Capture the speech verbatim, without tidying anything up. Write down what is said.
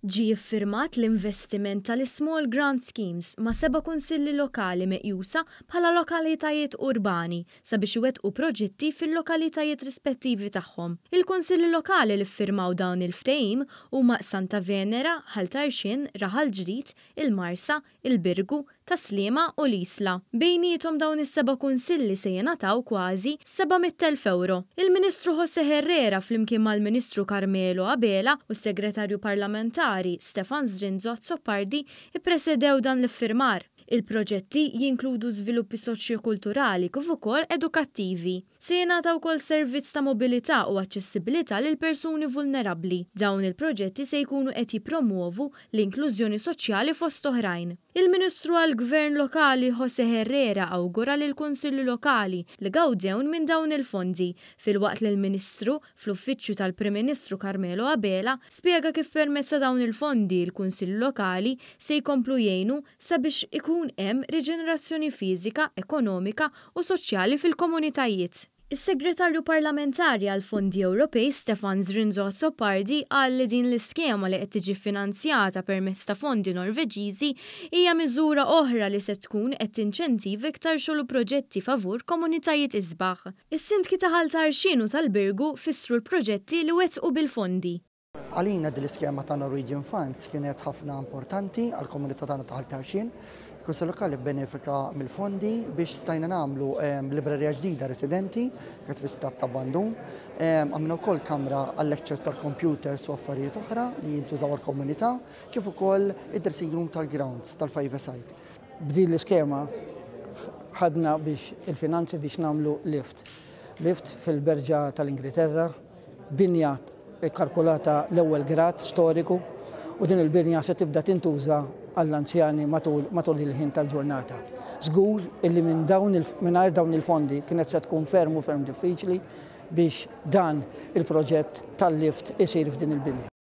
Ġie iffirmat l-investiment tal-Small Grant Schemes ma' seba' kunsilli lokali meqjusa bħala lokalitajiet urbani sabiex iwettqu proġetti fil-lokalitajiet rispettivi tagħhom. Il-kunsilli lokali li ffirmaw dawn il-ftehim huma Santa Venera, Ħal Tarxien, Raħal Ġdid, il-Marsa, il-Birgu, Tas-Sliema u l-Isla. Bejniethom dawn is-seba' kunsilli se jingħataw kważi seba' mitt elf ewro. Il-Ministru José Herrera flimkien mal-Ministru Carmelo Abela u s-Segretarju Parlamentari Stefan Zrinzo Azzopardi ippresedew dan l-iffirmar. Il-proġetti jinkludu żviluppi soċjokulturali kif ukoll edukattivi. Se jingħata wkoll servizz ta' mobilità u aċċessibilità lil persuni vulnerabbli. Dawn il-proġetti se jkunu qed jippromuovu l-inklużjoni soċjali fost oħrajn. Il-Ministru għall-Gvern Lokali José Herrera awgura lill-Kunsilli Lokali li gawdew minn dawn il-fondi, filwaqt li l-Ministru fl-Uffiċċju tal-Prim Ministru Carmelo Abela spjega kif permezz ta' dawn il-fondi l-Kunsilli Lokali se jkomplu jgħinu sabiex ikun hemm riġenerazzjoni fiżika, ekonomika u soċjali fil-komunitajiet. Is-Segretarju Parlamentari għall-Fondi Ewropej Stefan Zrinzo Azzopardi qal li din l-iskema li qed tiġi finanzjata permezz ta' fondi Norveġiżi hija miżura oħra li se tkun qed tinċentiva iktar xogħol u proġetti favur komunitajiet isbaħ. Is-sindki ta' Ħal Tarxien u tal-Birgu fissru l-proġetti li wettqu bil-fondi. Għalina din l-iskema ta' Norwegian Funds kienet ħafna importanti għall-komunità tagħna ta' Ħal Tarxien. Il-Kunsill Lokali bbenefika mill-fondi biex stajna nagħmlu, ehm, librerija ġdida residenti, kienet fi stat ta' abbandun. Ehm, għamilna wkoll kamra għal-lectures tal-computers u affarijiet oħra li jintużaw għall-komunità, kif ukoll id-dressing room tal-grounds tal-five side. B'din l-iskema ħadna biex il-finanzi biex nagħmlu lift. Lift fil-Berġa tal-Ingilterra, binja kalkulata l-ewwel grad storiku, u din il-binja se tibda tintuża għall-anzjani matul, matul il-ħin tal-ġurnata. Żgur illi minn dawn il-, mingħajr dawn il-fondi kienet se tkun ferm u ferm diffiċli biex dan il-proġett tal-lift isir f'din il-binja.